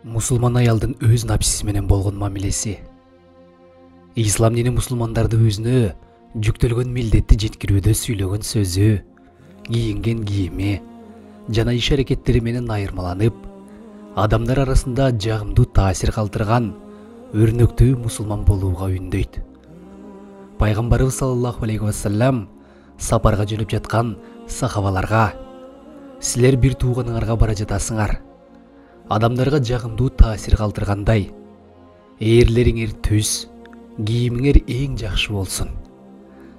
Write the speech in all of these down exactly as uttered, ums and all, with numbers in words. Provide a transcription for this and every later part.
Мусулман аялдын өз напсиси менен болгон мамилеси. Ислам дини мусулмандарды өзүнө жүктөлгөн милдетти жеткирүүдө сүйлөгөн сөзү, кийинген кийими жана иш аракеттери менен айырмаланып, адамдар арасында жагымдуу таасир калтырган өрнөктүү мусулман болууга үндөйт. Пайгамбарыбыз саллаллаху алейхи вассалам сапарга жөнөп жаткан сахабаларга: силер бир тууганыңарга бара жатасыңар, адамдарга жагымдуу таасир калтыргандай, ээрлериңер түз, кийимиңер эң жакшы болсун.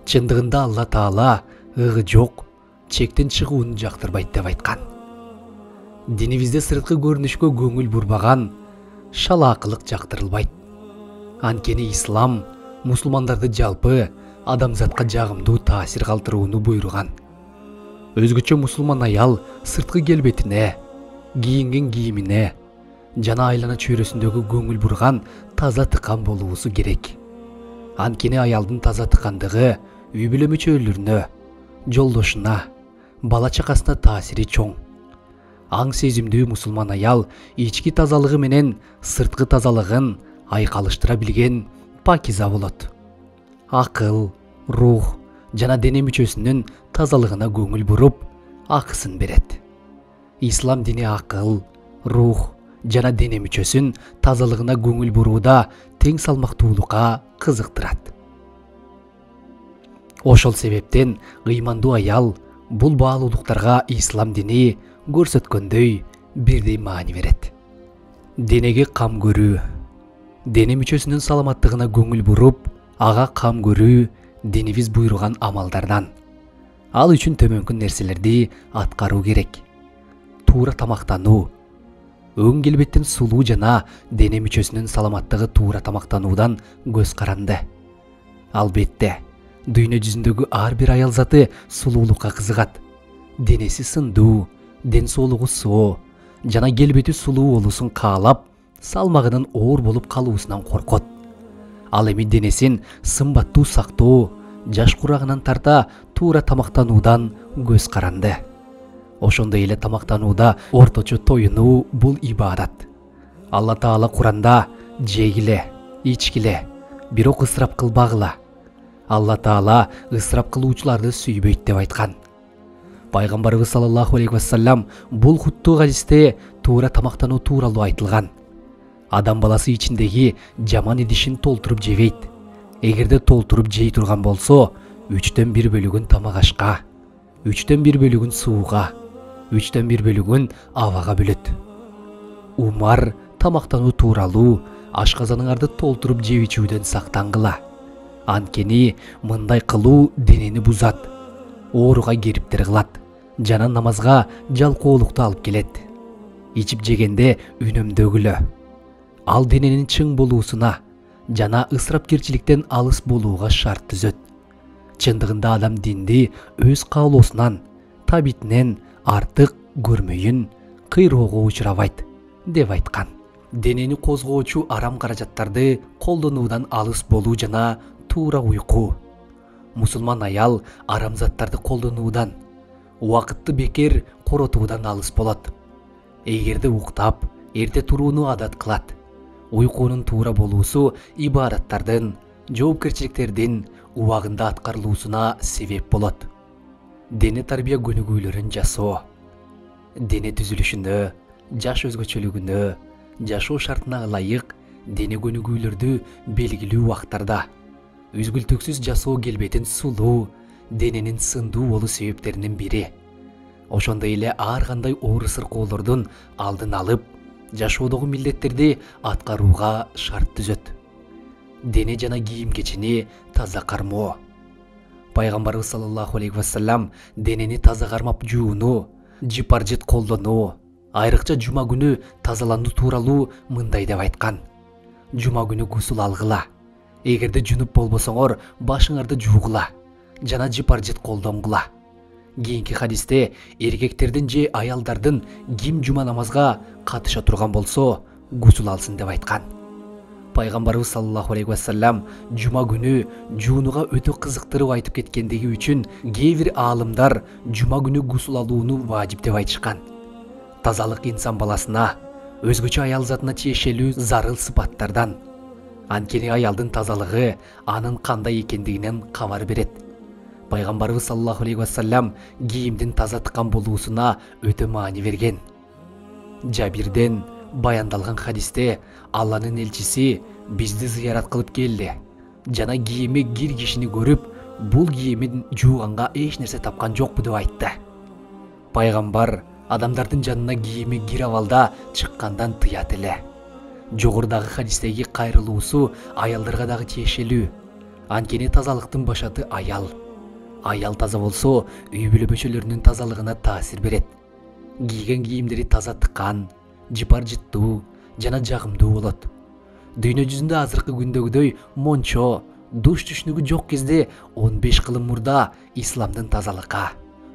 Чындыгында Алла Таала ыгы жок, чектен чыгууну жактырбайт деп айткан. Динибизде сырткы көрүнүшкө көңүл бурбаган шалаакылык жактырылбайт. Анткени ислам мусулмандарды жалпы адамзатка жагымдуу таасир калтырууну буйруган. Өзгөчө мусулман аял сырткы келбетине, кийинген кийимине жана айлана чөйрөсүндөгү көңүл бурган таза тыкан болуусу керек. Анткени аялдын таза тыкандыгы үй бүлө мүчөлөрүнө, жолдошуна, бала чакасына таасири чоң. Аң сезимдүү мусулман аял ички тазалыгы менен сырткы тазалыгын айкалыштыра билген пакиза болот. Акыл, рух жана дене мүчөсүнүн тазалыгына көңүл буруп, акысын берет. Ислам дини акыл, рух жана дене мүчөсүн тазалыгына көңүл бурууда тең салмактуулукка кызыктырат. Ошол себептен ыймандуу аял бул баалуулуктарга ислам дини көрсөткөндөй бирдей маани берет. Денеге кам көрүү, дене мүчөсүнүн саламаттыгына көңүл буруп, ага кам көрүү динибиз буйруган амалдардан. Ал үчүн төмөнкү нерселерди аткаруу керек. Туура тамактануу. Өң келбеттен сулуу жана дене мүчөсүнүн саламаттыгы туура тамактануудан көз каранды. Албетте, дүйнө жүзүндөгү ар бир аял заты сулуулукка кызыгат. Денеси сындуу, ден соолугу соо жана келбети сулуу болуусун каалап, салмагынын оор болуп калуусунан коркот. Ал эми денесин сымбаттуу сактоо, жаш курагынан тарта туура тамактануудан көз каранды. Ошондой эле тамактанууда орточо тоюнуу бул ибадат. Алла Таала Куранда: жегиле, ичкиле, бирок ысырап кылбагыла. Алла Таала ысырап кылуучуларды сүйбөйт деп айткан. Пайгамбарыбыз саллаллаху алейхи вассалам бул хуттуу хадисте туура тамактануу тууралуу айтылган. Адам баласы ичиндеги жаман идишин толтуруп жебейт. Эгерде толтуруп жей турган болсо, үчтөн бир бөлүгүн тамак ашка, үчтөн бир бөлүгүн сууга, үчтөн бир бөлүгүн абага бөлөт. Умар тамактануу тууралуу ашказаныңарды толтуруп жеп ичүүдөн сактангыла. Анткени мындай кылуу денени бузат, ооруга кериптер кылат жана намазга жалкоолукту алып келет. Ичип жегенде үнөмдөгүлө. Ал дененин чың болуусуна жана ысырапкерчиликтен алыс болууга шарт түзөт. Чындыгында адам динди өз каалоосунан, табитинен артык көрмөйүн, кыйроого учурабайт деп айткан. Денени козгоочу арам каражаттарды колдонуудан алыс болуу жана туура уйку. Мусулман аял арам заттарды колдонуудан, убакытты бекер коротуудан алыс болот. Эгерде уктап, эрте турууну адат кылат, уйкунун туура болуусу ибадаттардын, жоопкерчиликтердин убагында аткарылуусуна себеп болот. Дене тарбия көнүгүүлөрүн жасоо. Дене түзүлүшүнө, жаш өзгөчөлүгүнө, жашоо шартына ылайык дене көнүгүүлөрдү белгилүү убактарда үзгүлтүксүз жасоо келбетин сулуу, дененин сындуу болуу себептеринин бири. Ошондой эле ар кандай оор сыркоолордун алдын алып, жашоодогу милдеттерди аткарууга шарт түзөт. Дене жана кийим кечини таза кармоо. Пайгамбарыбыз саллаллаху алейхи вассалам денени таза кармап жууну, жипаржет колдонуу, айрыкча жума күнү тазалануу тууралуу мындай деп айткан: жума күнү гусул алгыла. Эгерде жунуп болбосоңор, башыңарды жуугула жана жипаржет колдонгула. Кийинки хадисте эркектердин же аялдардын ким жума намазга катыша турган болсо, гусул алсын деп айткан. Пайгамбарыбыз саллаллаху алейхи вассалам жума күнү жуунуга өтө кызыктырып айтып кеткендиги үчүн кээ бир аалымдар жума күнү гусул алууну важип деп айтышкан. Тазалык инсан баласына, өзгөчө аял затына тиешелүү зарыл сыпаттардан. Анткени аялдын тазалыгы анын кандай экендигинен кабар берет. Пайгамбарыбыз саллаллаху алейхи вассалам кийимдин таза тыккан болуусуна өтө маани берген. Жабирден баяндалган хадисте Алланын элчиси бизди зыярат кылып келди жана кийими кир кишини көрүп, бул кийимин жууганга эч нерсе тапкан жокпу деп айтты. Пайгамбар адамдардын жанына кийими кир абалда чыккандан тыят эле. Жогорудагы хадистеги кайрылуусу аялдарга дагы тиешелүү. Анткени тазалыктын башаты аял. Аял таза болсо, үй бүлө мүчөлөрүнүн тазалыгына таасир берет. Кийген кийимдери таза тыккан, жыпар жыттуу жана жагымдуу болот. Дүйнө жүзүндө азыркы күндөгүдөй мончо, душ түшүнүгү жок кезде он беш кылым мурда исламдын тазалыкка,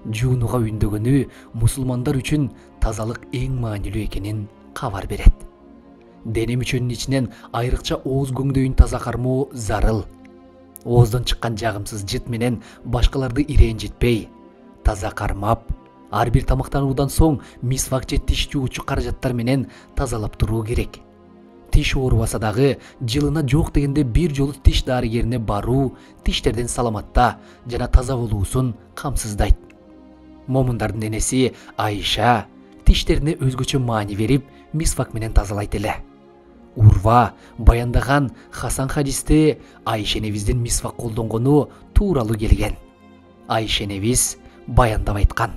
жуунууга үндөгөнү мусулмандар үчүн тазалык эң маанилүү экенин кабар берет. Дене мүчөнүн ичинен айрыкча ооз көңдөйүн таза кармоо зарыл. Ооздон чыккан жагымсыз жыт менен башкаларды ирэнжитпей, таза кармап, ар бир тамактануудан соң мисвак же тиш жуучу каражаттар менен тазалап туруу керек. Тиш оорубаса дагы жылына жок дегенде бир жолу тиш дарыгерине баруу тиштердин саламатта жана таза болуусун камсыздайт. Момундардын энеси Айша тиштерине өзгөчө маани берип, мисвак менен тазалайт эле. Урва баяндаган Хасан хадисте Айша энебиздин мисвак колдонгону тууралуу келген. Айша энебиз баяндап айткан: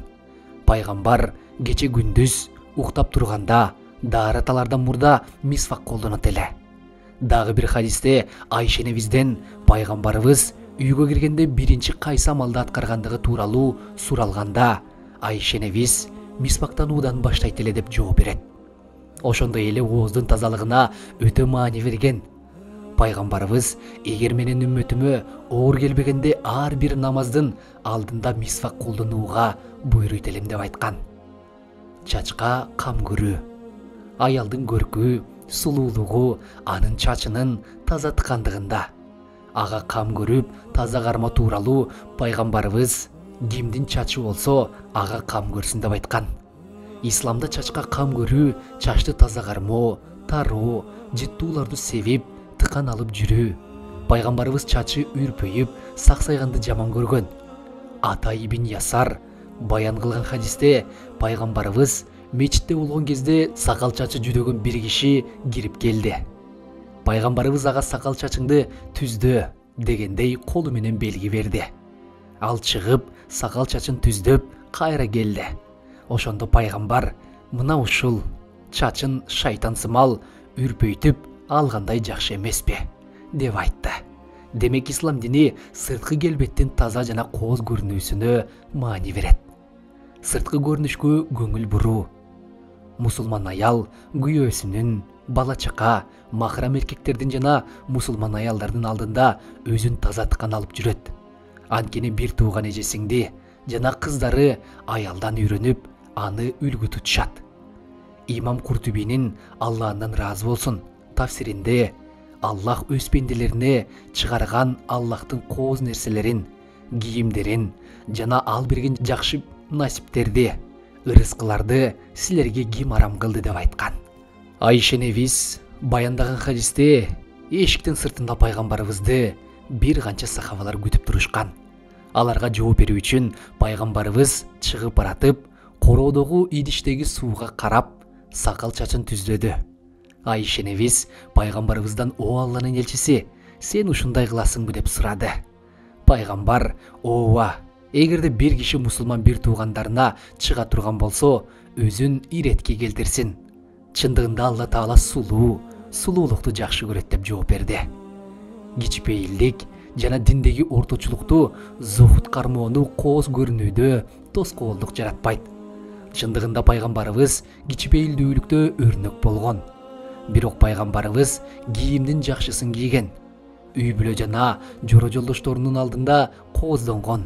пайгамбар кече күндүз уктап турганда даараталардан мурда мисвак колдонот эле. Дагы бир хадисте Айша энебизден пайгамбарыбыз үйгө киргенде биринчи кайсы амалды аткаргандыгы тууралуу суралганда, Айша энебиз мисвактануудан баштайт эле деп жооп берет. Ошондой эле ооздун тазалыгына өтө маани берген. Пайгамбарыбыз эгер менин үммөтүмө оор келбегенде ар бир намаздын алдында мисвак колдонууга буйруйт элем деп айткан. Чачка кам көрүү. Аялдын көркү, сулуулугу анын чачынын таза тыккандыгында. Ага кам көрүп, таза карма тууралуу пайгамбарыбыз кимдин чачы болсо, ага кам көрсүн деп айткан. Исламда чачка кам көрүү, чачты таза кармоо, тароо, жыттууларды себип, тыкан алып жүрүү. Пайгамбарыбыз чачы үрпөйүп, саксайганды жаман көргөн. Ата ибн Ясар баян кылган хадисте пайгамбарыбыз мечитте болгон кезде сакал чачы жүдөгөн бир киши кирип келди. Пайгамбарыбыз ага сакал чачыңды түздө дегендей колу менен белги берди. Ал чыгып, сакал чачын түздөп, кайра келди. Ошондо пайгамбар: мына ушул чачын шайтансымал үрпөйтүп алгандай жакшы эмеспи деп айтты. Демек ислам дини сырткы келбеттин таза жана кооз көрүнүүсүнө маани берет. Сырткы көрүнүшкө көңүл буруу. Мусулман аял күйөөсүнүн, бала чака, махрам эркектердин жана мусулман аялдардын алдында өзүн таза тыккан алып жүрөт. Анткени бир тууган эжесиңди жана кыздары аялдан үйрөнүп, аны үлгү тутушат. Имам Куртубинин Аллахдан ыраазы болсун тафсиринде Аллах өз пенделерине чыгарган Аллахтын кооз нерселерин, кийимдерин жана ал берген жакшы насиптерди, ырыскыларды силерге ким арам кылды деп айткан. Айша энебиз баяндаган хадисте эшиктин сыртында пайгамбарыбызды бир канча сахабалар күтүп турушкан. Аларга жооп берүү үчүн пайгамбарыбыз чыгып баратып, короодогу идиштеги сууга карап, сакал чачын түздөдү. Айша энебиз пайгамбарыбыздан: "О Алланын элчиси, сен ушундай кыласыңбы?" деп сурады. Пайгамбар: "Ооба, эгерде бир киши мусулман бир туугандарына чыга турган болсо, өзүн иретке келтирсин. Чындыгында Алла Таала сулуу, сулуулукту жакшы көрөт" деп жооп берди. Кичпейилдик жана диндеги орточулукту, зухут кармоону кооз көрүнүүдө тоскоолдук жаратпайт. Чындыгында пайгамбарыбыз кичпейилдүүлүктө өрнөк болгон. Бирок пайгамбарыбыз кийимдин жакшысын кийген. Үй бүлө жана жоро жолдошторунун алдында кооздонгон.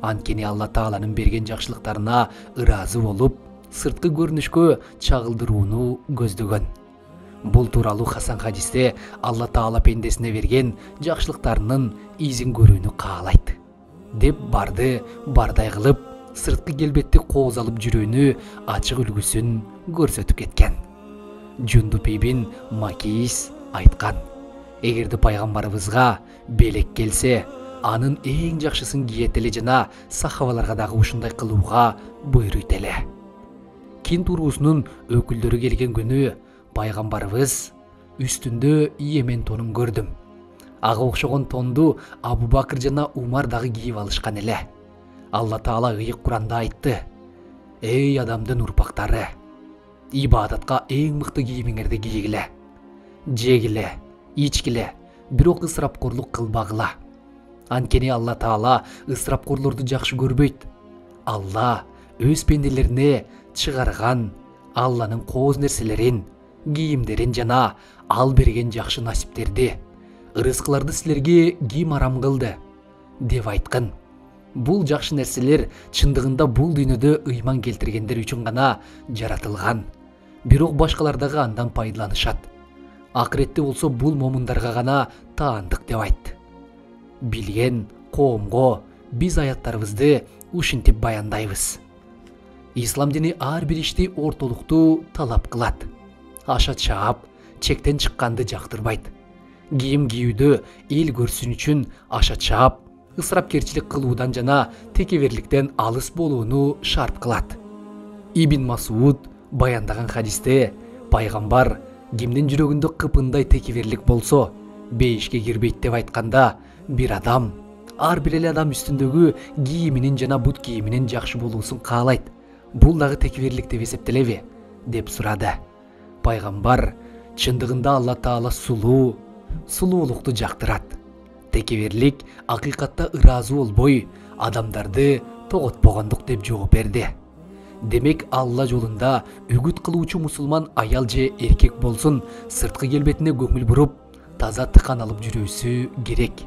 Анткени Алла Тааланын берген жакшылыктарына ыраазы болуп, сырткы көрүнүшкө чагылдырууну көздөгөн. Бул тууралуу Хасан хадисте Алла Таала пендесине берген жакшылыктарынын изин көрүүнү каалайт деп барды бардай кылып, сырткы келбетти кооз алып жүрүүнү ачык үлгүсүн көрсөтүп кеткен. Жундуп ибн Макис айткан: эгерде пайгамбарыбызга белек келсе, анын эң жакшысын кийет эле жана сахабаларга дагы ушундай кылууга буйруйт эле. Кинт уруусунун өкүлдөрү келген күнү пайгамбарыбыз үстүндө Йемен тонун көрдүм. Ага окшогон тонду Абу Бакыр жана Умар дагы кийип алышкан эле. Алла Таала ыйык Куранда айтты: эй адамдын урпактары, ибадатка эң мыкты кийимиңерди кийгиле, жегиле, ичкиле, бирок ысырапкорлук кылбагыла. Анткени Алла Таала ысырапкорлорду жакшы көрбөйт. Алла өз пенделерине чыгарган Алланын кооз нерселерин, кийимдерин жана ал берген жакшы насиптерди, ырыскыларды силерге ким арам кылды деп айткан. Бул жакшы нерселер чындыгында бул дүйнөдө ыйман келтиргендер үчүн гана жаратылган. Бирок башкалар дагы андан пайдаланышат. Акыретте болсо бул момундарга гана таандык деп айтты. Билген коомго биз аяттарыбызды ушинтип баяндайбыз. Ислам дини ар бир ишти ортолуктуу талап кылат. Аша чаап, чектен чыкканды жактырбайт. Кийим кийүүдө эл көрсүн үчүн аша чаап, ысырапкерчилик кылуудан жана текеберликтен алыс болууну шарт кылат. Ибн Масуд баяндаган хадисте пайгамбар кимдин жүрөгүндө кыпындай текеберлик болсо, бейишке кирбейт деп айтканда, бир адам ар бир эле адам үстүндөгү кийиминин жана бут кийиминин жакшы болуусун каалайт. Бул дагы текеберлик деп эсептелеби? Деп сурады. Пайгамбар чындыгында Алла Таала сулуу, сулуулукту жактырат. Текеберлик акыйкатта ыраазы болбой, адамдарды тоготпогондук деп жооп берди. Демек Алла жолунда үгүт кылуучу мусулман аял же эркек болсун, сырткы келбетине көңүл буруп, таза тыкан алып жүрүүсү керек.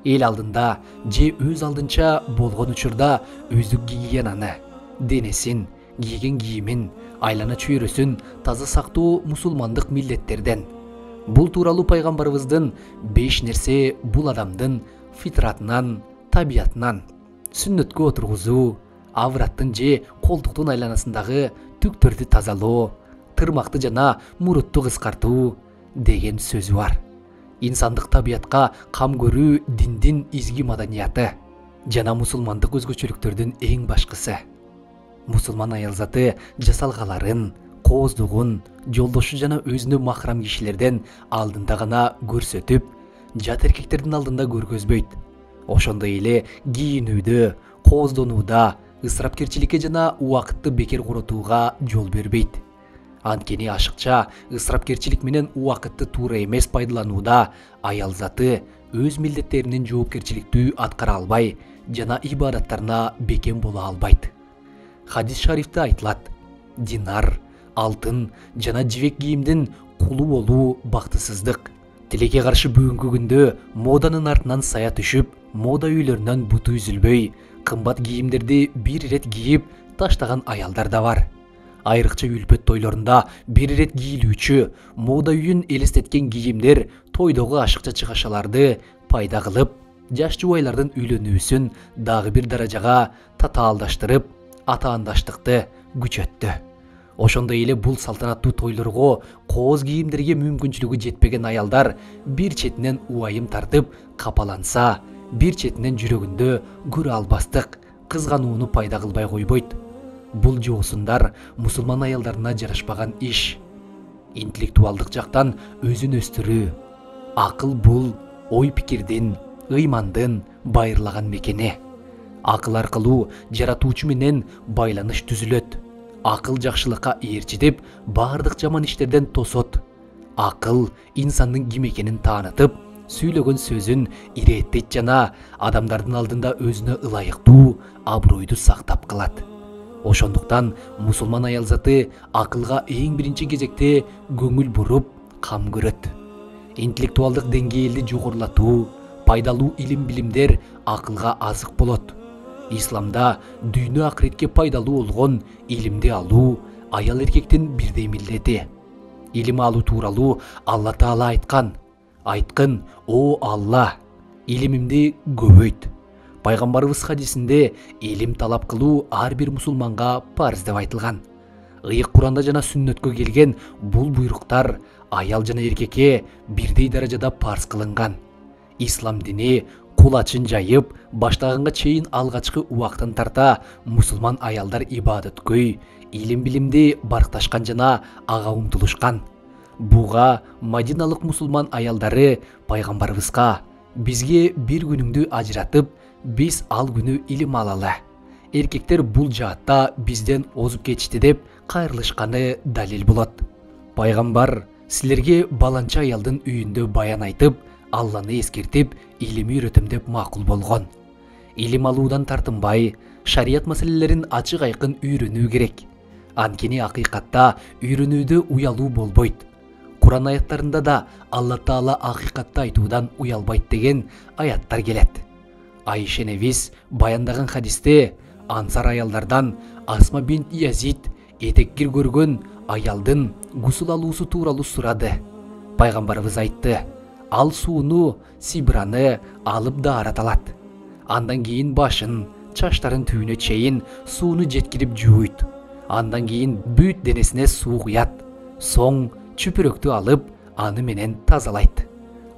Эл алдында же өз алдынча болгон учурда өздүк кийген аны, денесин, кийген кийимин, айлана чөйрөсүн таза сактоо мусулмандык милдеттерден. Бул тууралуу пайгамбарыбыздын беш нерсе бул адамдын фитратынан, табиятынан: сүннөткө отургузуу, авраттын же колтуктун айланасындагы түктөрдү тазалоо, тырмакты жана мурутту кыскартуу деген сөзү бар. Инсандык табиятка кам көрүү диндин изги маданияты жана мусулмандык өзгөчөлүктөрдүн эң башкысы. Мусулман аялзаты жасалгаларын, кооздугун жолдошу жана өзүнө махрам кишилерден алдында гана көрсөтүп, жат эркектердин алдында көргөзбөйт. Ошондой эле кийинүүдө, кооздонууда ысырапкерчиликке жана убакытты бекер коротууга жол бербейт. Анткени ашыкча ысырапкерчилик менен убакытты туура эмес пайдаланууда аялзаты өз милдеттеринин жоопкерчиликтүү аткара албай жана ибадаттарына бекем боло албайт. Хадис шарифте айтылат: динар, алтын жана жибек кийимдин кулу болуу бактысыздык. Тилекке каршы бүгүнкү күндө моданын артынан сая түшүп, мода үйлөрүнөн буту үзүлбөй, кымбат кийимдерди бир ирет кийип таштаган аялдар да бар. Айрыкча үлпөт тойлорунда бир ирет кийилүүчү, мода үйүн элестеткен кийимдер тойдогу ашыкча чыгашаларды пайда кылып, жаш жубайлардын үйлөнүүсүн дагы бир даражага татаалдаштырып, атаандаштыкты күчөттү. Ошондой эле бул салтанаттуу тойлорго кооз кийимдерге мүмкүнчүлүгү жетпеген аялдар бир четинен убайым тартып капаланса, бир четинен жүрөгүндө көрө албастык, кызганууну пайда кылбай койбойт. Бул жоосундар мусулман аялдарына жарашпаган иш. Интеллектуалдык жактан өзүн өстүрүү. Акыл бул ой пикирдин, ыймандын байырлаган мекени. Акыл аркылуу жаратуучу менен байланыш түзүлөт. Акыл жакшылыкка ээрчитип, баардык жаман иштерден тосот. Акыл инсандын ким экенин таанытып, сүйлөгөн сөзүн ирээттейт жана адамдардын алдында өзүнө ылайыктуу абройду сактап калат. Ошондуктан мусулман аялзаты акылга эң биринчи кезекте көңүл буруп, кам көрөт. Интеллектуалдык деңгээлди жогорулатуу, пайдалуу илим билимдер акылга азык болот. Исламда дүйнө акыретке пайдалуу болгон илимди алуу аял эркектин бирдей милдети. Илим алуу тууралуу Алла Таала айткан: айткын, о Алла, илимимди көбөйт. Пайгамбарыбыз хадисинде илим талап кылуу ар бир мусулманга парыз деп айтылган. Ыйык Куранда жана сүннөткө келген бул буйруктар аял жана эркекке бирдей даражада парз кылынган. Ислам дини кул ачын жайып баштаганга чейин алгачкы убактан тарта мусулман аялдар ибадеткөй, илим билимди баркташкан жана ага умтулушкан. Буга Мадиналык мусулман аялдары пайгамбарыбызга бизге бир күнүңдү ажыратып, биз ал күнү илим алалы. Эркектер бул жаатта бизден озуп кетишти деп кайрылышканы далил болот. Пайгамбар силерге баланча аялдын үйүндө баян айтып, Алланы эскертип, илим үйрөтөм деп макул болгон. Илим алуудан тартынбай, шарият маселелерин ачык айкын үйрөнүү керек. Анткени акыйкатта үйрөнүүдө уялуу болбойт. Куран аяттарында да Алла Таала акыйкатты айтуудан уялбайт деген аяттар келет. Айша энебиз баяндаган хадисте ансар аялдардан Асма бинт Язид этеккир көргөн аялдын гусул алуусу тууралуу сурады. Пайгамбарыбыз айтты: ал сууну, сибраны алып даарат алат. Андан кийин башын, чачтарын түбүнө чейин сууну жеткирип жууйт. Андан кийин бүт денесине суу куят. Соң чүпүрөктү алып, аны менен тазалайт.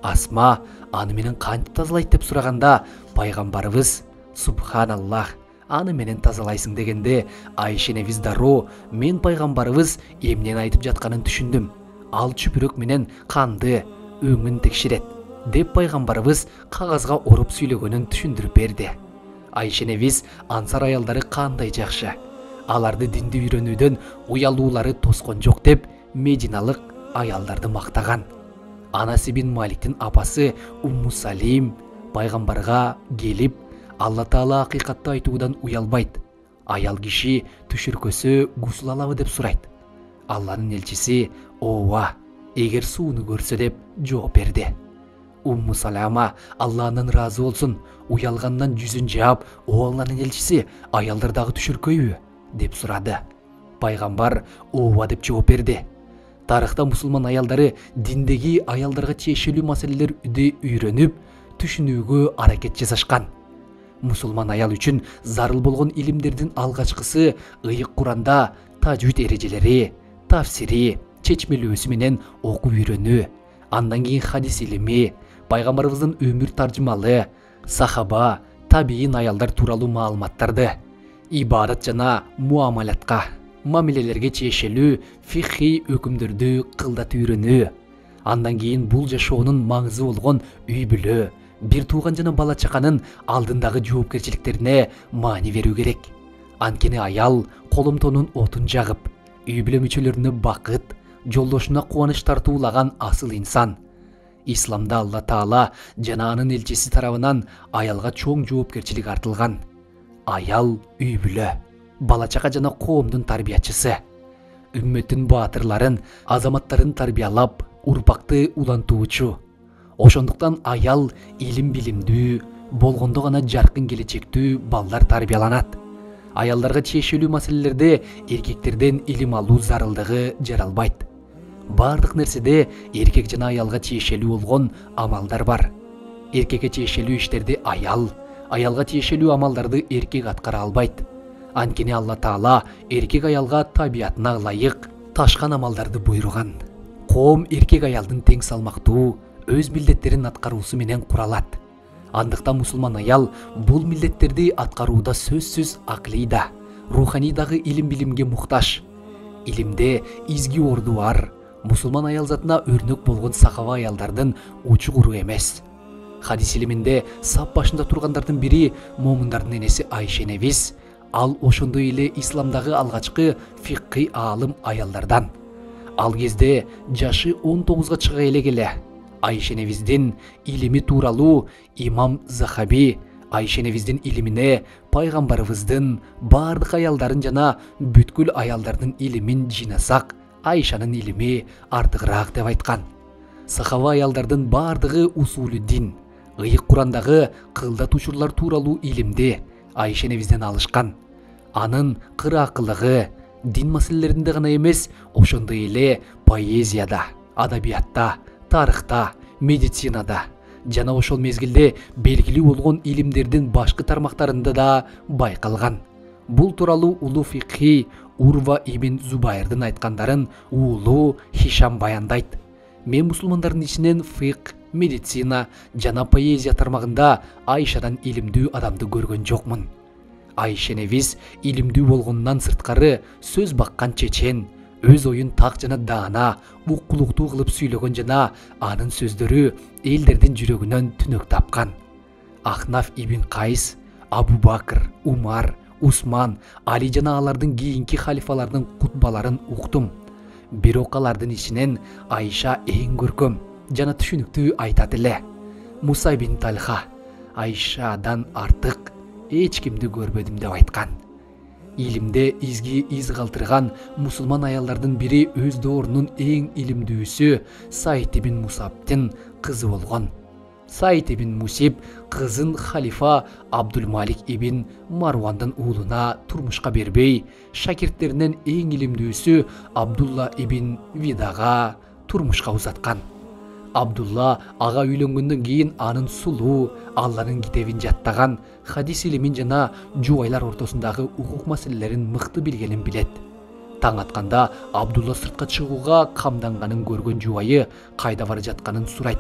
Асма аны менен кантип тазалайт деп сураганда, пайгамбарыбыз: субханаллах, аны менен тазалайсың дегенде, Айша энебиз дароо: мен пайгамбарыбыз эмнени айтып жатканын түшүндүм. Ал чүпүрөк менен канды, өңүн текшерет деп пайгамбарыбыз кагазга оруп сүйлөгөнүн түшүндүрүп берди. Айша энебиз ансар аялдары кандай жакшы. Аларды динди үйрөнүүдөн уялуулары тоскон жок деп Мединалык аялдарды мактаган. Анас ибн Маликтин апасы Умму Салим пайгамбарга келип, Алла Таала акыйкатты айтуудан уялбайт. Аял киши түшүркөсө гусул алабы деп сурайт. Алланын элчиси: ооба, эгер сууну көрсө деп жооп берди. Умму Салама Алланын ыраазы болсун, уялгандан жүзүн жаап: о Алланын элчиси, аялдар дагы түшүркөйбү деп сурады. Пайгамбар ооба деп жооп берди. Тарыхта мусулман аялдары диндеги аялдарга тиешелүү маселелерди үйрөнүп, түшүнүүгө аракет жасашкан. Мусулман аял үчүн зарыл болгон илимдердин алгачкысы Ыйык Куранда тажвид эрежелери, тафсири, чечмелөөсү менен окуп үйрөнүү. Андан кийин хадис илими, пайгамбарыбыздын өмүр таржымалы, сахаба, табиин аялдар тууралуу маалыматтарды, ибадат жана муамалатка, мамилелерге тиешелүү фихи өкүмдөрдү кылдат үйрөнүү. Андан кийин бул жашоонун маңызы болгон үй бүлө, бир тууган жана бала чаканын алдындагы жоопкерчиликтерине маани берүү керек. Анткени аял коломтонун отун жагып, үй бүлө мүчөлөрүнө бакыт, жолдошуна кубаныч тартуулаган асыл инсан. Исламда Алла Таала жана анын элчиси тарабынан аялга чоң жоопкерчилик артылган. Аял үй бүлө, бала чака жана коомдун тарбиячысы. Үммөттүн баатырларын, азаматтарын тарбиялап, урпакты улантуучу. Ошондуктан аял илим билимдүү, болгондо гана жаркын келечектүү балдар тарбияланат. Аялдарга тиешелүү маселелерде эркектерден илим алуу зарылдыгы жаралбайт. Бардык нерседе эркек жана аялга тиешелүү болгон амалдар бар. Эркекке тиешелүү иштерди аял, аялга тиешелүү амалдарды эркек аткара албайт. Анткени Алла Таала эркек аялга табиятына ылайык ташкан амалдарды буйруган. Коом эркек аялдын тең салмактуу, өз милдеттерин аткаруусу менен куралат. Андыктан мусулман аял бул милдеттерди аткарууда сөзсүз акылийда, руханийдагы илим билимге муктаж. Илимде изги орду бар, мусулман аял затына өрнөк болгон сахаба аялдардын учу куру эмес. Хадис илиминде сап башында тургандардын бири момундардын энеси Айша энебиз. Ал ошондой эле исламдагы алгачкы фиккый аалым аялдардан. Ал кезде жашы он тогузга чыга элек. Айша энебиздин илими тууралуу имам Захаби Айша энебиздин илимине пайгамбарыбыздын бардык аялдарын жана бүткүл аялдардын илимин жыйнасак, Айшанын илими артыгыраак деп айткан. Сахаба аялдардын бардыгы усулу дин, Ыйык Курандагы кылдат учурлар тууралуу илимди Айша энебизден алышкан. Анын кыраакылыгы дин маселелеринде гана эмес, ошондой эле поэзияда, адабиятта, тарыхта, медицинада жана ошол мезгилде белгилүү болгон илимдердин башкы тармактарында да байкалган. Бул тууралуу улуу фикхи, Урва ибн Зубайрдын айткандарын уулу Хишам баяндайт. Мен мусулмандардын ичинен фикх, медицина жана поэзия тармагында Айшадан илимдүү адамды көргөн жокмун. Айша энебиз илимдүү болгонунан сырткары сөз баккан чечен, өз оюн так жана даана, уккулуктуу кылып сүйлөгөн жана анын сөздөрү элдердин жүрөгүнөн түнөк тапкан. Ахнаф ибн Кайс, Абу Бакр, Умар, Усман, Али жана алардын кийинки халифалардын кутбаларын уктум. Бирок алардын ичинен Айша эң көркөм жана түшүнүктүү айтат эле. Муса ибн Талха Айшадан артык эч кимди көрбөдүм деп айткан. Илимде изги из калтырган мусулман аялдардын бири өз доорунун эң илимдүүсү Саид ибн Мусабтын кызы болгон. Саид ибн Мусиб кызын халифа Абдулмалик ибн Марвандын уулуна турмушка бербей, шакирттеринен эң илимдүүсү Абдулла ибн Видага турмушка узаткан. Абдулла ага үйлөнгөндөн кийин анын сулуу, Алланын китебин жаттаган, хадис илимин жана жубайлар ортосундагы укук маселелерин мыкты билгенин билет. Таң атканда Абдулла сыртка чыгууга камданганын көргөн жубайы кайда бара жатканын сурайт.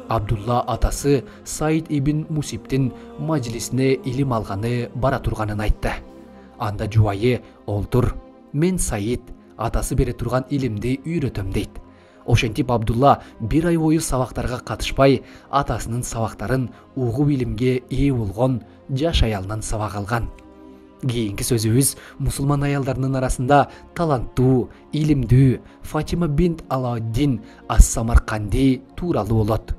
Абдулла атасы Саид ибн Мусибтин мажлисине илим алганы бара турганын айтты. Анда жубайы: "Олтур, мен Саид, атасы бере турган илимди үйрөтөм" дейт. Ошентип Абдулла бир ай бою сабактарга катышпай, атасынын сабактарын угуп илимге ээ болгон жаш аялынан сабак алган. Кийинки сөзүбүз мусулман аялдарынын арасында таланттуу, илимдүү Фатима бинт Алауддин ас-Самарканди тууралуу болот.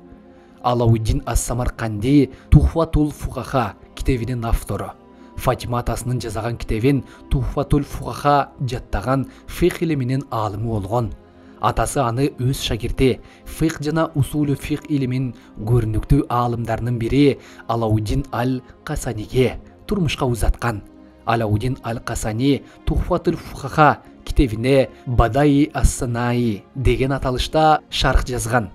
Алауддин ас-Самарканди Тухфатул Фукаха китебинин автору. Фатима атасынын жазаган китебин Тухфатул Фукаха жаттаган фикх илиминин аалымы болгон. Атасы аны өз шакирти, фикх жана усулу фикх илимин көрүнүктүү аалымдарынын бири Алауддин аль-Касаниге турмушка узаткан. Алауддин аль-Касани Тухфатул Фукаха китебине Бадаи ас-Санаи деген аталышта шарх жазган.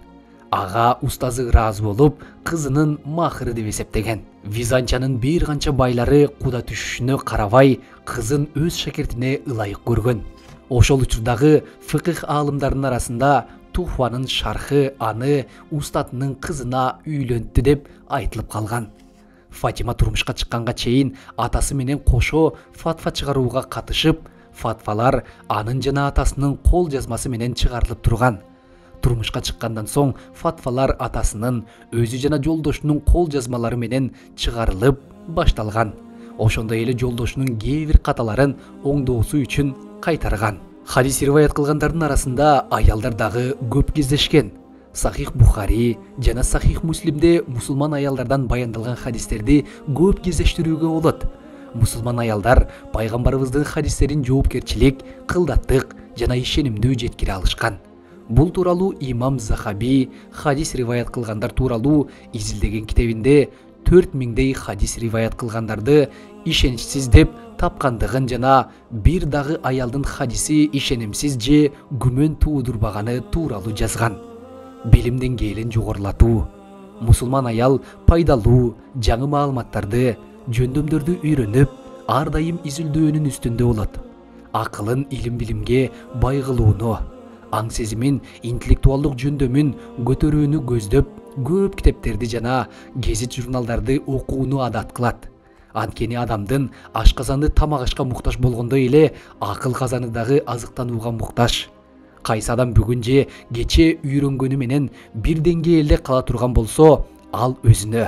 Ага устазы ыраазы болуп, кызынын махыры деп эсептеген. Византиянын бир канча байлары куда түшүшүнө карабай, кызын өз шакиртине ылайык көргөн. Ошол учурдагы фикх аалымдарынын арасында Тухфанын шархы аны устатынын кызына үйлөнттү деп айтылып калган. Фатима турмушка чыкканга чейин атасы менен кошо фатва чыгарууга катышып, фатвалар анын жана атасынын кол жазмасы менен чыгарылып турган. Турмушка чыккандан соң фатвалар атасынын, өзү жана жолдошунун кол жазмалары менен чыгарылып башталган. Ошондой эле жолдошунун кээ бир каталарын оңдоосу үчүн кайтарган. Хадис риваят кылгандардын арасында аялдар дагы көп кездешкен. Сахих Бухари жана Сахих Муслимде мусулман аялдардан баяндалган хадистерди көп кездештирүүгө болот. Мусулман аялдар пайгамбарыбыздын хадистерин жоопкерчилик, кылдаттык жана ишенимдүү жеткире алышкан. Бул тууралуу имам Захаби хадис риваят кылгандар тууралуу изилдеген китебинде төрт миңдей хадис риваят кылгандарды ишеничсиз деп тапкандыгын жана бир дагы аялдын хадиси ишенимсиз же күмөн туудурбаганы тууралуу жазган. Билим деңгээлин жогорулатуу. Мусулман аял пайдалуу, жаңы маалыматтарды, жөндөмдөрдү үйрөнүп, ар дайым изилдөөнүн үстүндө болот. Акылын илим-билимге бай кылууну, аң сезимин, интеллектуалдык жөндөмүн көтөрүүнү көздөп, көп китептерди жана гезит журналдарды окууну адат кылат. Анткени адамдын ашказаны тамак ашка муктаж болгондой эле акыл казаны дагы азыктанууга муктаж. Кайсы адам бүгүн же кече үйрөнгөнү менен бир деңгээлде кала турган болсо, ал өзүнө,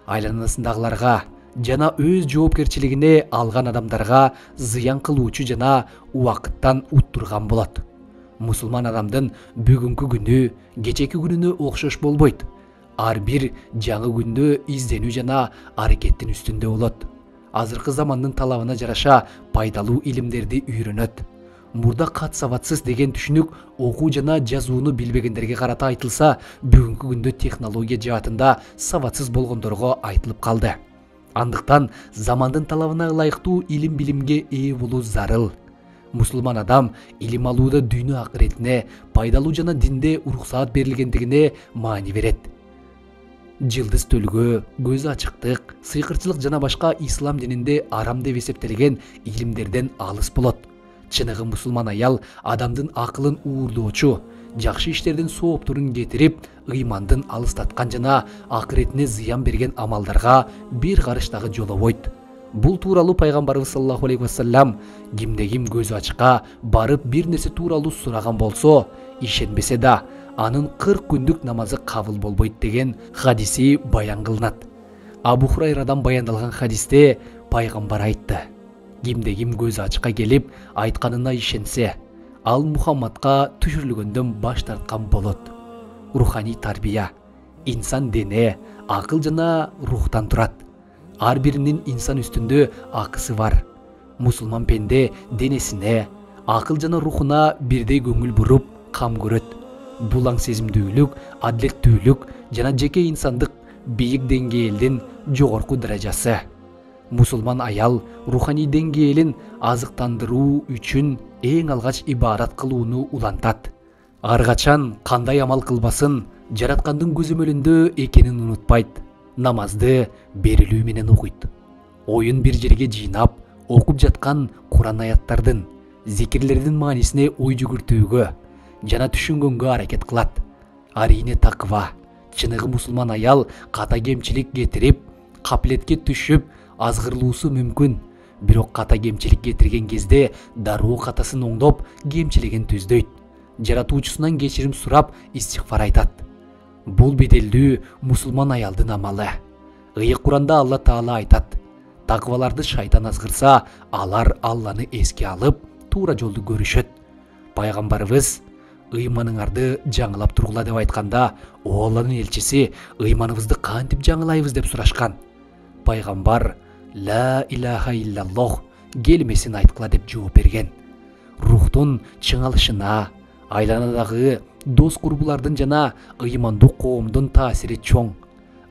айланасындагыларга жана өз жоопкерчилигине алган адамдарга зыян кылуучу жана убакыттан уттурган болот. Мусулман адамдын бүгүнкү күнү кечеки күнүнө окшош болбойт. Ар бир жаңы күндө изденүү жана аракеттин үстүндө болот. Азыркы замандын талабына жараша пайдалуу илимдерди үйрөнөт. Мурда кат сабатсыз деген түшүнүк окуу жана жазууну билбегендерге карата айтылса, бүгүнкү күндө технология жаатында сабатсыз болгондорго айтылып калды. Андыктан замандын талабына ылайыктуу илим билимге ээ болуу зарыл. Мусулман адам илим алууда дүйнө акыретине, пайдалуу жана динде уруксаат берилгендигине маани берет. Жылдыз төлгө, көз ачыктык, сыйкырчылык жана башка ислам дининде арам деп эсептелген илимдерден алыс болот. Чыныгы мусулман аял адамдын акылын уурдоочу, жакшы иштердин соопторун кетирип, ыймандын алыстаткан жана акыретине зыян берген амалдарга бир карыш дагы жолобойт. Бул тууралуу пайгамбарыбыз саллаллаху алейхи вассалам кимде ким көзү ачка барып бир нерсе тууралуу сураган болсо, ишенбесе да анын кырк күндүк намазы кабыл болбойт деген хадиси баян кылынат. Абу Хурайрадан баяндалган хадисте пайгамбар айтты: кимде ким көзү ачка келип айтканына ишенсе, ал Мухаммадка түшүрүлгөндөн баш тарткан болот. Руханий тарбия. Инсан дене, акыл жана рухтан турат. Ар биринин инсан үстүндө акысы бар. Мусулман пенде денесине, акыл жана рухуна бирдей көңүл буруп, кам көрөт. Булаң сезимдүүлүк, адилеттүүлүк жана жеке инсандык бийик деңгээлдин жогорку даражасы. Мусулман аял руханий деңгээлин азыктандыруу үчүн эң алгач ибарат кылууну улантат. Ар качан кандай амал кылбасын, жараткандын көзөмөлүндө экенин унутпайт. Намазды берилүү менен окуйт. Оюн бир жерге жыйнап, окуп жаткан Куран аяттардын, зикирлердин маанисине ой жүгүртүүгө жана түшүнгөнгө аракет кылат. Арине таква. Чыныгы мусулман аял ката кемчилик кетирип, капилетке түшүп, азгырлуусу мүмкүн. Бирок ката кемчилик кетирген кезде дароо катасын оңдоп, кемчилигин түздөйт. Жаратуучусунан кечирим сурап, истигфар айтат. Бул беделдүү мусулман аялдын амалы. Ыйык Куранда Алла Таала айтат: такваларды шайтан азгырса, алар Алланы эске алып, туура жолду көрүшөт. Пайгамбарыбыз ыйманыңарды жаңылап тургула деп айтканда, о Алланын элчиси, ыйманыбызды кантип жаңылайбыз деп сурашкан. Пайгамбар ла илаха иллаллох келмесин айткыла деп жооп берген. Рухтун чыңалышына, айланадагы дос курбулардын жана ыймандуу коомдун таасири чоң.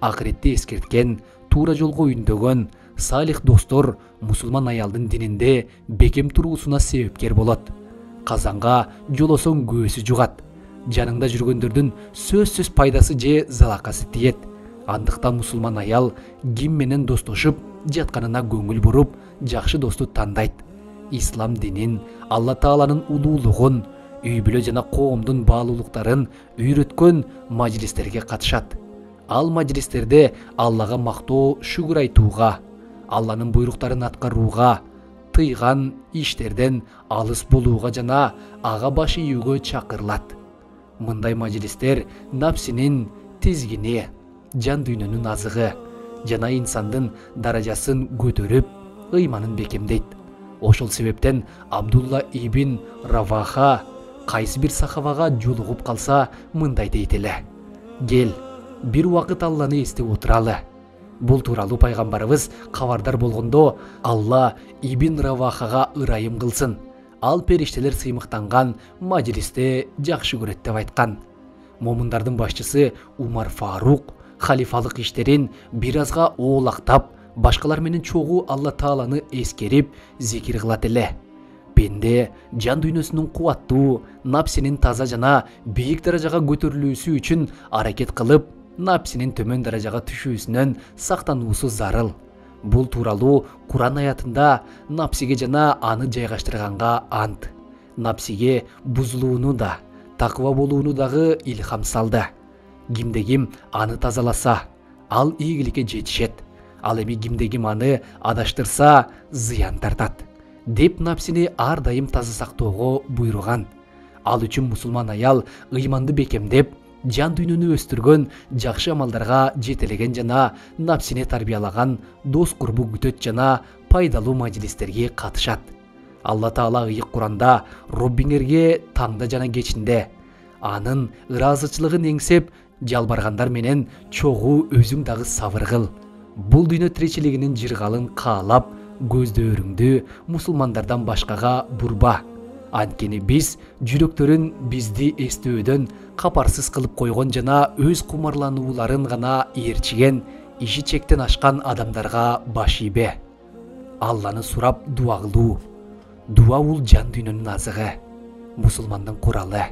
Акыретти эскерткен, туура жолго үндөгөн салих достор мусулман аялдын дининде бекем туруусуна себепкер болот. Казанга жолосоң көөсү жугат. Жаныңда жүргөндөрдүн сөзсүз пайдасы же залакасы тиет. Андыктан мусулман аял ким менен достошуп жатканына көңүл буруп, жакшы досту тандайт. Ислам динин, Алла Тааланын улуулугун, үй бүлө жана коомдун баалуулуктарын үйрөткөн мажлистерге катышат. Ал мажлистерде Аллага мактоо, шүгүр айтууга, Алланын буйруктарын аткарууга, тыйган иштерден алыс болууга жана ага баш ийүүгө чакырылат. Мындай мажлистер напсинин тизгини, жан дүйнөнүн азыгы жана инсандын даражасын көтөрүп, ыйманын бекемдейт. Ошол себептен Абдулла ибн Раваха кайсы бир сахабага жолугуп калса, мындай дейт эле: кел, бир убакыт Алланы эстеп отуралы. Бул тууралуу пайгамбарыбыз кабардар болгондо, Алла ибн Равахага ырайым кылсын, ал периштелер сыймыктанган мажлисте жакшы көрөт деп айткан. Момундардын башчысы Умар Фарук халифалык иштерин бир азга оолактап, башкалар менен чогуу Алла Тааланы эскерип, зикир кылат эле. Пенде жан дүйнөсүнүн кубаттуу, напсинин таза жана бийик даражага көтөрүлүүсү үчүн аракет кылып, напсинин төмөн даражага түшүүсүнөн сактануусу зарыл. Бул тууралуу Куран аятында напсиге жана аны жайгаштырганга ант, напсиге бузулууну да, таква болууну дагы илхам салды. Кимде ким аны тазаласа, ал ийгиликке жетишет. Ал эми кимде ким аны адаштырса, зыян тартат деп напсини ар дайым таза сактоого буйруган. Ал үчүн мусулман аял ыйманды бекемдеп, жан дүйнөнү өстүргөн, жакшы амалдарга жетелеген жана напсине тарбиялаган дос курбу күтөт жана пайдалуу мажлистерге катышат. Алла Таала ыйык Куранда Роббиңерге таңда жана кечинде, анын ыраазычылыгын эңсеп, жалбаргандар менен чогуу өзүң дагы сабыр кыл. Бул дүйнө тиричилигинин жыргалын каалап, көздөрүңдү мусулмандардан башкага бурба. Анткени биз жүрөктөрүн бизди эстөөдөн капарсыз кылып койгон жана өз кумарланууларын гана ээрчиген, иши чектен ашкан адамдарга баш ийбе. Алланы сурап дуа кылуу. Дуа бул жан дүйнөнүн азыгы, мусулмандын куралы.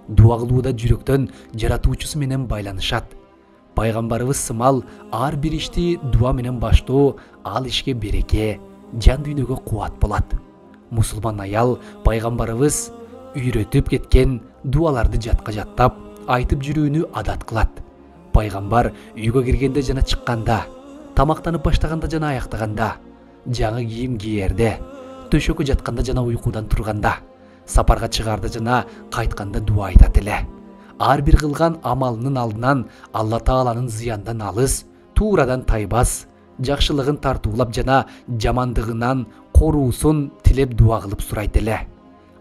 Дуа кылууда жүрөктөн жаратуучусу менен байланышат. Пайгамбарыбыз сымал ар бир ишти дуа менен баштоо, ал ишке береке, жан дүйнөгө кубат болот. мусулман аял пайгамбарыбыз үйрөтүп кеткен дуаларды жатка жаттап айтып жүрүүнү адат кылат. Пайгамбар үйгө киргенде жана чыкканда, тамактанып баштаганда жана аяктаганда, жаңы кийим кийерде, төшөккө жатканда жана уйкудан турганда, сапарга чыгаарда жана кайтканда дуа айтат эле. Ар бир кылган амалынын алдынан Алла Тааланын зыяндан алыс, туурадан тайбас, жакшылыгын тартуулап жана жамандыгынан коруусун тилеп дуа кылып сурайт эле.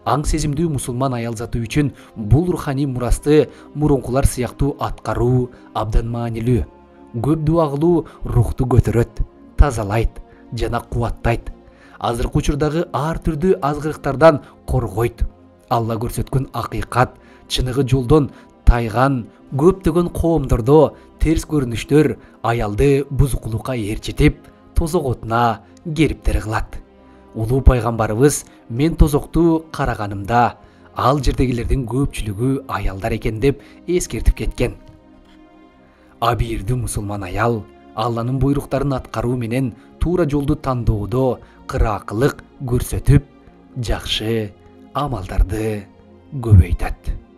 Аң сезимдүү мусулман аял заты үчүн бул руханий мурасты мурункулар сыяктуу аткаруу абдан маанилүү. Көп дуа кылуу рухту көтөрөт, тазалайт жана кубаттайт. Азыркы учурдагы ар түрдүү азгырыктардан коргойт. Алла көрсөткөн акыйкат, чыныгы жолдон тайган көптөгөн коомдордо терс көрүнүштөр аялды бузукулукка ээрчитип, тозок отуна кериптер кылат. Улуу пайгамбарыбыз мен тозокту караганымда ал жердегилердин көпчүлүгү аялдар экен деп эскертип кеткен. Абийирдүү мусулман аял Алланын буйруктарын аткаруу менен туура жолду тандоодо кыраакылык көрсөтүп, жакшы амалдарды көбөйтөт.